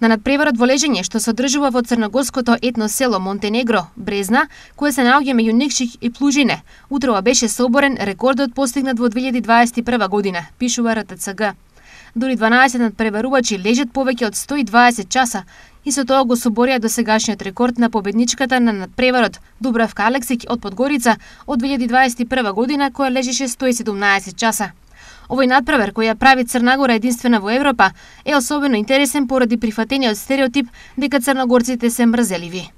На надпреварот во лежење што се одржува во црногорското етно село Монтенегро, Брезна, кое се наоѓа меѓу Никшик и Плужине, утрова беше соборен рекордот постигнат во 2021 година, пишува РТЦГ. Дури 12 надпреварувачи лежат повеќе од 120 часа и со тоа го соборија досегашниот рекорд на победничката на надпреварот Дубравка Алексик од Подгорица од 2021 година, која лежеше 117 часа. Овој надпревар, кој ја прави Црна Гора единствена во Европа, е особено интересен поради прифатениот стереотип дека црногорците се мрзеливи.